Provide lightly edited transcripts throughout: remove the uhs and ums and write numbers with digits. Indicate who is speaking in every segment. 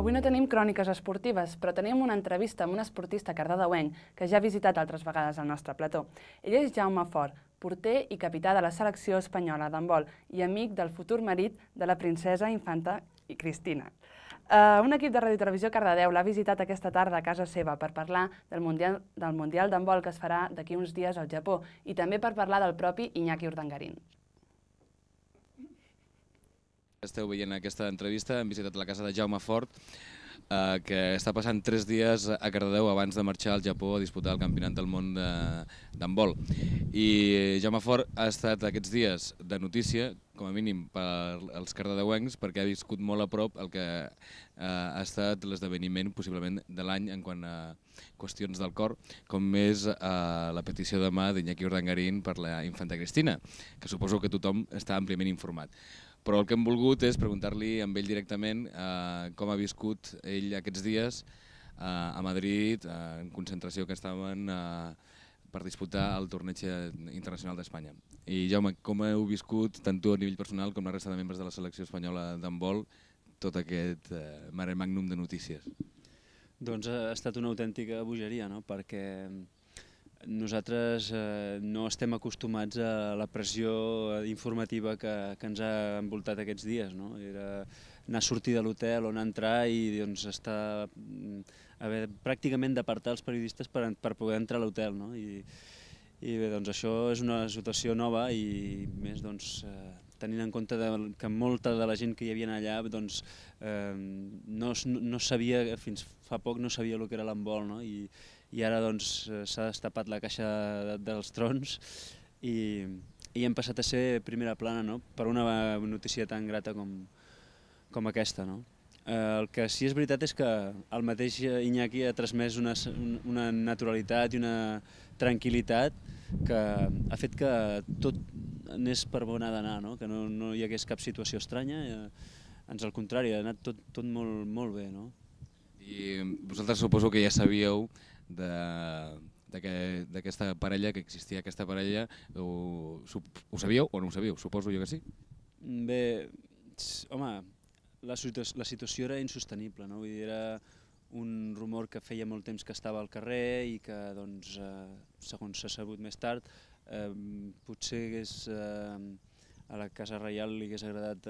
Speaker 1: Avui no tenim cròniques esportives, però tenim una entrevista amb un esportista cardedeuenc que ja ha visitat altres vegades el nostre plató. Ell és Jaume Fort, porter i capità de la selecció espanyola d'handbol i amic del futur marit de la princesa infanta Cristina. Un equip de Ràdio i Televisió Cardedeu l'ha visitat aquesta tarda a casa seva per parlar del Mundial d'handbol que es farà d'aquí uns dies al Japó i també per parlar del propi Iñaki Urdangarín.
Speaker 2: Esteu veient aquesta entrevista, hem visitat la casa de Jaume Fort, que està passant 3 dies a Cardedeu abans de marxar al Japó a disputar el Campionat del Món d'handbol. I Jaume Fort ha estat aquests dies de notícia, com a mínim per als cardedeuencs, perquè ha viscut molt a prop el que ha estat l'esdeveniment possiblement de l'any en quant a qüestions del cor, com és la petició de mà d'Iñaki Urdangarín per la infanta Cristina, que suposo que tothom està àmpliament informat. Però el que hem volgut és preguntar-li amb ell directament com ha viscut ell aquests dies a Madrid, en concentració que estaven per disputar el torneig internacional d'Espanya. I Jaume, com heu viscut, tant tu a nivell personal com la resta de membres de la selecció espanyola d'handbol, tot aquest mare magnum de notícies?
Speaker 3: Doncs ha estat una autèntica bogeria, no? Perquè nosaltres no estem acostumats a la pressió informativa que ens ha envoltat aquests dies, no? Era anar a sortir de l'hotel o anar a entrar i haver pràcticament d'apartar els periodistes per poder entrar a l'hotel, no? I bé, doncs això és una situació nova i més tenint en compte que molta de la gent que hi havia allà no sabia, fins fa poc no sabia el que era l'handbol, no? I ara s'ha destapat la caixa dels trons i hem passat a ser primera plana, no? Per una notícia tan grata com aquesta, no? El que sí és veritat és que el mateix Iñaki ha transmès una naturalitat i una tranquil·litat que ha fet que tot anés per on ha d'anar, no? Que no hi hagués cap situació estranya, ans al contrari, ha anat tot molt bé, no?
Speaker 2: I vosaltres suposo que ja sabíeu d'aquesta parella, que existia aquesta parella, ho sabíeu o no ho sabíeu? Suposo jo que sí.
Speaker 3: Bé, home, la situació era insostenible, no? Vull dir, era un rumor que feia molt temps que estava al carrer i que, segons s'ha sabut més tard, potser a la Casa Reial li hagués agradat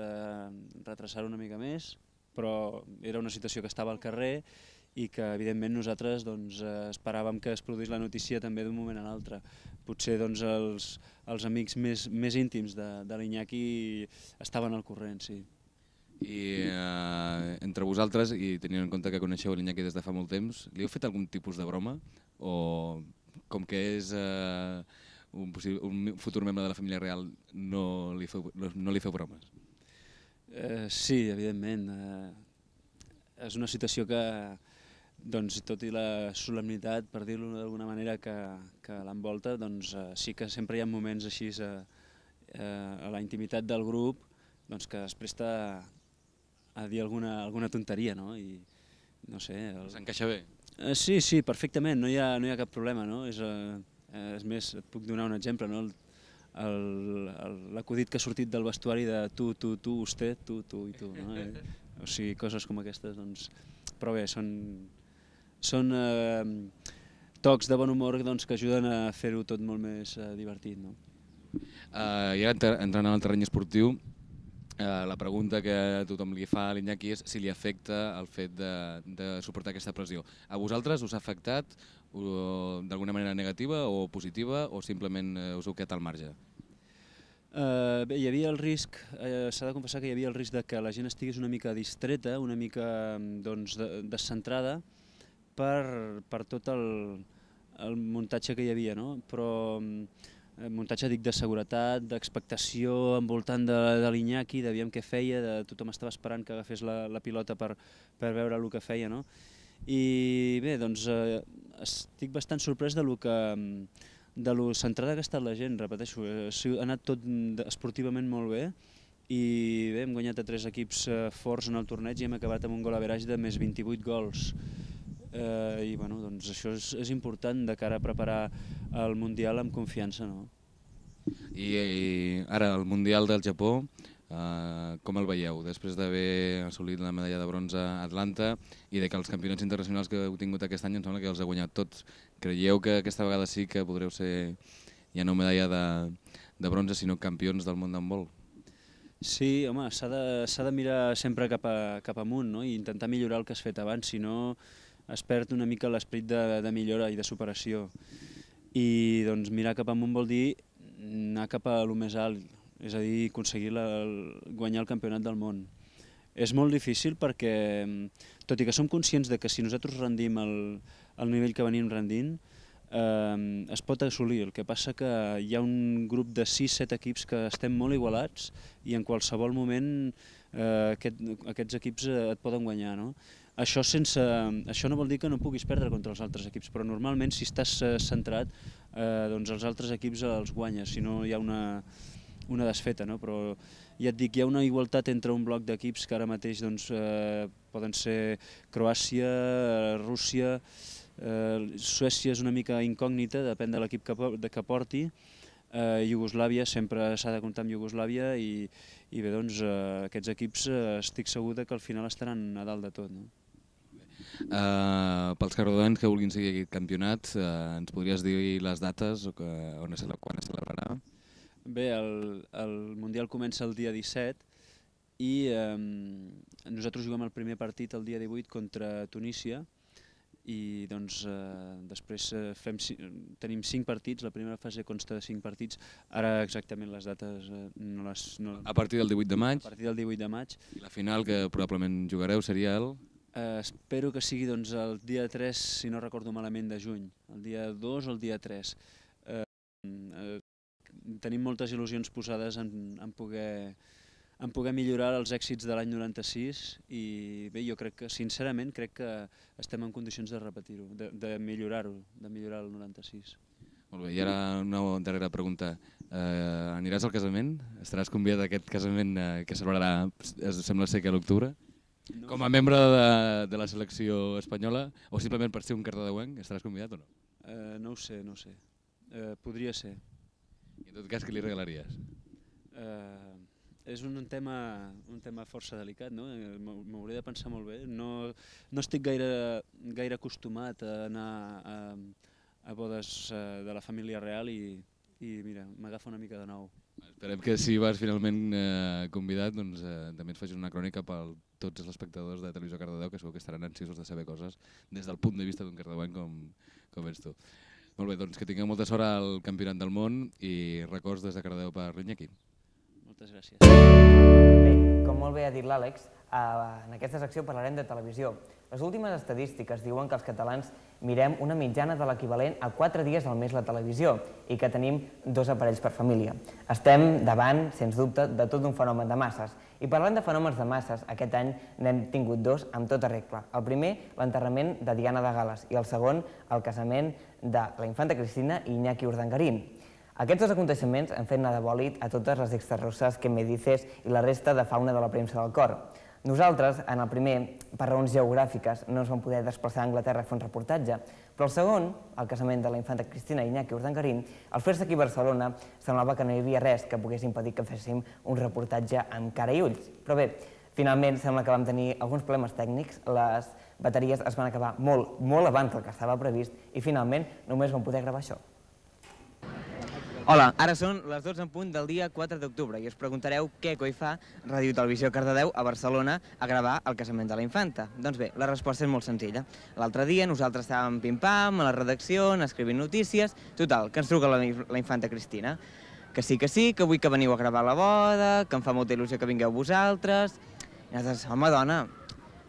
Speaker 3: retrasar-ho una mica més, però era una situació que estava al carrer i que evidentment nosaltres esperàvem que es produís la notícia també d'un moment a l'altre. Potser els amics més íntims de l'Iñaki estaven al corrent, sí.
Speaker 2: I entre vosaltres, i tenint en compte que coneixeu l'Iñaki des de fa molt temps, li heu fet algun tipus de broma? O com que és un futur membre de la família real no li feu bromes?
Speaker 3: Sí, evidentment. És una situació que, tot i la solemnitat, per dir-ho d'alguna manera, que l'envolta, sí que sempre hi ha moments així a la intimitat del grup que es presta a dir alguna tonteria, no? I no sé...
Speaker 2: S'encaixa bé?
Speaker 3: Sí, perfectament, no hi ha cap problema, no? És més, et puc donar un exemple, no? L'acudit que ha sortit del vestuari de tu, usted, tu i tu, no? O sigui, coses com aquestes, però bé, són tocs de bon humor que ajuden a fer-ho tot molt més divertit, no?
Speaker 2: I ara, entrant en el terreny esportiu, la pregunta que tothom li fa a l'Iñaki és si li afecta el fet de suportar aquesta pressió. A vosaltres us ha afectat d'alguna manera negativa o positiva o simplement us heu quedat al marge?
Speaker 3: Bé, hi havia el risc, s'ha de confessar que hi havia el risc que la gent estigués una mica distreta, una mica descentrada per tot el muntatge que hi havia, no? Però muntatge, dic, de seguretat, d'expectació envoltant de l'Iñaki, de veure què feia, tothom estava esperant que agafés la pilota per veure el que feia, no? I bé, estic bastant sorprès de lo centrada que ha estat la gent, repeteixo, ha anat tot esportivament molt bé i bé, hem guanyat a 3 equips forts en el torneig i hem acabat amb un gol average de més 28 gols. I bueno, això és important de cara a preparar el Mundial amb confiança, no?
Speaker 2: I ara el Mundial del Japó Com el veieu, després d'haver assolit la medalla de bronze a Atlanta i de que els campionats internacionals que heu tingut aquest any em sembla que els heu guanyat tots? Creieu que aquesta vegada sí que podreu ser ja no medalla de bronze, sinó campions del món d'handbol?
Speaker 3: Sí, home, s'ha de mirar sempre cap amunt, no? I intentar millorar el que has fet abans, si no es perd una mica l'esperit de millora i de superació. I doncs mirar cap amunt vol dir anar cap a lo més alt, és a dir, aconseguir guanyar el campionat del món. És molt difícil perquè, tot i que som conscients de que si nosaltres rendim al nivell que venim rendint, es pot assolir. El que passa que hi ha un grup de 6-7 equips que estem molt igualats i en qualsevol moment aquests equips et poden guanyar, no? Això no vol dir que no puguis perdre contra els altres equips, però normalment si estàs centrat, doncs els altres equips els guanyes, si no hi ha una desfeta, no? Però ja et dic, hi ha una igualtat entre un bloc d'equips que ara mateix poden ser Croàcia, Rússia, Suècia és una mica incògnita, depèn de l'equip que porti, Iugoslàvia, sempre s'ha de comptar amb Iugoslàvia i bé, doncs aquests equips estic segur que al final estaran a dalt de tot, no?
Speaker 2: Pels cardedeuencs que vulguin seguir aquest campionat, ens podries dir les dates o quan es celebrarà?
Speaker 3: Bé, el Mundial comença el dia 17 i nosaltres juguem el primer partit el dia 18 contra Tunísia i doncs després tenim 5 partits, la primera fase consta de 5 partits, ara exactament les dates no les...
Speaker 2: A partir del 18 de maig?
Speaker 3: A partir del 18 de maig.
Speaker 2: I la final que probablement jugareu seria el...?
Speaker 3: Espero que sigui doncs, el dia 3, si no recordo malament, de juny, el dia 2 o el dia 3. Tenim moltes il·lusions posades en poder millorar els èxits de l'any 96 i bé, jo crec que, sincerament, crec que estem en condicions de repetir-ho, de millorar-ho, de millorar el 96.
Speaker 2: Molt bé, i ara una darrera pregunta. Aniràs al casament? Estaràs convidat a aquest casament que celebrarà, sembla ser que a l'octubre? Com a membre de la selecció espanyola o simplement per ser un cardedeuenc, estaràs convidat o no?
Speaker 3: No ho sé, no ho sé. Podria ser.
Speaker 2: I en tot cas, què li regalaries?
Speaker 3: És un tema força delicat, no? M'hauré de pensar molt bé. No estic gaire acostumat a anar a bodes de la família real i mira, m'agafa una mica de nou.
Speaker 2: Esperem que si vas finalment convidat doncs, també ens facis una crònica per tots els espectadors de Televisió Cardedeu, que segur que estaran ansiosos de saber coses des del punt de vista d'un cardedeuenc com ets tu. Molt bé, doncs que tingueu molta sort al Campionat del Món i records des de Cardedeu per l'Iñaki.
Speaker 3: Moltes gràcies.
Speaker 4: Bé, com molt bé ha dit l'Àlex, en aquesta secció parlarem de televisió. Les últimes estadístiques diuen que els catalans mirem una mitjana de l'equivalent a 4 dies al mes la televisió i que tenim 2 aparells per família. Estem davant, sens dubte, de tot un fenomen de masses. I parlant de fenòmens de masses, aquest any n'hem tingut 2 amb tota regla. El primer, l'enterrament de Diana de Gal·les i el segon, el casament de la infanta Cristina i Iñaki Urdangarín. Aquests 2 aconteixements han fet anar de bòlit a totes les extrarruses que me dices i la resta de fauna de la premsa del cor. Nosaltres, en el primer, per raons geogràfiques, no ens vam poder desplaçar a Anglaterra a fer un reportatge, però el segon, el casament de la infanta Cristina i Iñaki Urdangarín, al fer-se aquí a Barcelona, semblava que no hi havia res que pogués impedir que féssim un reportatge amb cara i ulls. Però bé, finalment sembla que vam tenir alguns problemes tècnics, les bateries es van acabar molt abans del que estava previst i finalment només vam poder gravar això.
Speaker 5: Hola, ara són les 12 en punt del dia 4 d'octubre i us preguntareu què coi fa Ràdio Televisió Cardedeu a Barcelona a gravar el casament de la infanta. Doncs bé, la resposta és molt senzilla. L'altre dia nosaltres estàvem pim-pam a la redacció, escrivint notícies, total, que ens truca la infanta Cristina. Que sí, que vull que veniu a gravar la boda, que em fa molta il·lusió que vingueu vosaltres. I nosaltres, home, dona,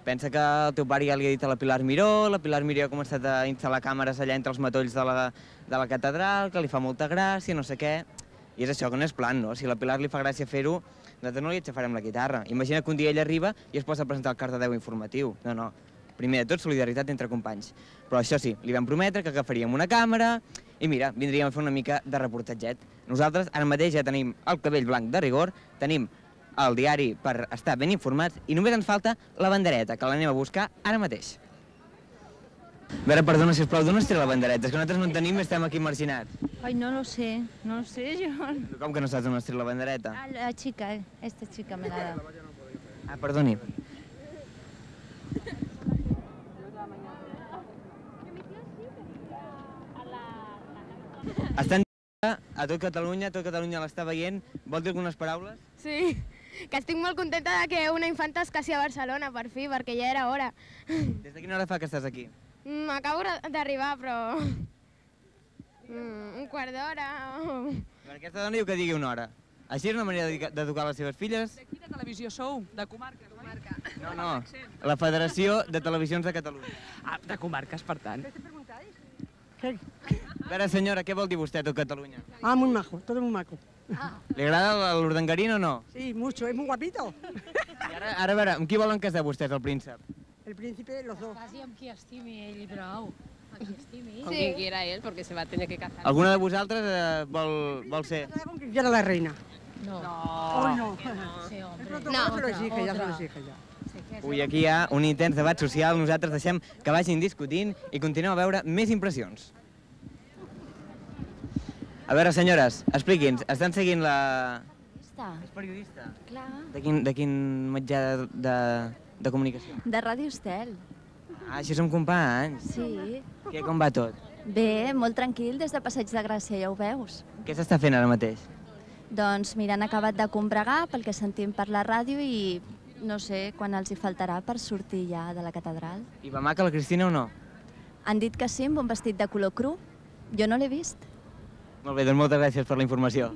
Speaker 5: pensa que el teu pare ja li ha dit a la Pilar Miró ha començat a instal·lar càmeres allà entre els matolls de la catedral, que li fa molta gràcia, no sé què. I és això, que no és plan, no? Si a la Pilar li fa gràcia fer-ho, nosaltres no li aixafarem la guitarra. Imagina que un dia ella arriba i es posa a presentar el Cardedeu informatiu. No. Primer de tot, solidaritat entre companys. Però això sí, li vam prometre que agafaríem una càmera i mira, vindríem a fer una mica de reportatget. Nosaltres ara mateix ja tenim el cabell blanc de rigor, tenim el diari per estar ben informats i només ens falta la bandereta, que l'anem a buscar ara mateix. A veure, perdona, sisplau, d'on es treu la bandereta? És que nosaltres no en tenim i estem aquí marginats.
Speaker 6: Ay, no lo sé yo.
Speaker 5: Com que no saps d'on es treu la bandereta?
Speaker 6: Ah, la chica, esta chica me la ha dado.
Speaker 5: Ah, perdoni. Estan a tot Catalunya l'està veient. Vol dir algunes paraules?
Speaker 7: Sí, que estic molt contenta de que una infanta es casi a Barcelona, per fi, perquè ja era hora.
Speaker 5: Des de quina hora fa que estàs aquí?
Speaker 7: Acabo d'arribar, però... un quart d'hora...
Speaker 5: Per aquesta dona diu que digui una hora. Així és una manera d'educar les seves filles?
Speaker 8: De quina televisió sou? De comarques, oi?
Speaker 5: No, la Federació de Televisions de Catalunya.
Speaker 8: Ah, de comarques, per tant.
Speaker 5: A veure, senyora, què vol dir vostè a tot Catalunya?
Speaker 9: Ah, muy majo, todo muy maco.
Speaker 5: Li agrada l'urdangarín o no?
Speaker 9: Sí, mucho, es muy guapito.
Speaker 5: I ara, a veure, amb qui volen casar vostès, el príncep?
Speaker 9: El príncipe, los dos.
Speaker 6: Casi amb qui estimi ell i prou. Amb qui estimi.
Speaker 10: Con quien quiera él, porque se va a tener que casar.
Speaker 5: Alguna de vosaltres vol ser?
Speaker 9: Con quien quiera la reina.
Speaker 6: No.
Speaker 9: Oh, no.
Speaker 6: Sí, hombre.
Speaker 9: No, se lo exige, ya se lo exige ya.
Speaker 5: Ui, aquí hi ha un intens debat social, nosaltres deixem que vagin discutint i continuem a veure més impressions. A veure, senyores, expliqui'ns, estan seguint la... És periodista?
Speaker 6: Clar.
Speaker 5: De quin mitjà de comunicació?
Speaker 6: De Ràdio Estel.
Speaker 5: Ah, així som companys.
Speaker 6: Sí.
Speaker 5: Què, com va tot?
Speaker 6: Bé, molt tranquil des de Passeig de Gràcia, ja ho veus.
Speaker 5: Què s'està fent ara mateix?
Speaker 6: Doncs mira, han acabat de combregar pel que sentim per la ràdio i no sé quan els hi faltarà per sortir ja de la catedral.
Speaker 5: I va maca la Cristina o no?
Speaker 6: Han dit que sí, amb un vestit de color cru. Jo no l'he vist.
Speaker 5: Molt bé, doncs moltes gràcies per la informació.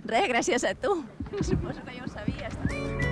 Speaker 6: Res, gràcies a tu. Suposo que ja ho sabies.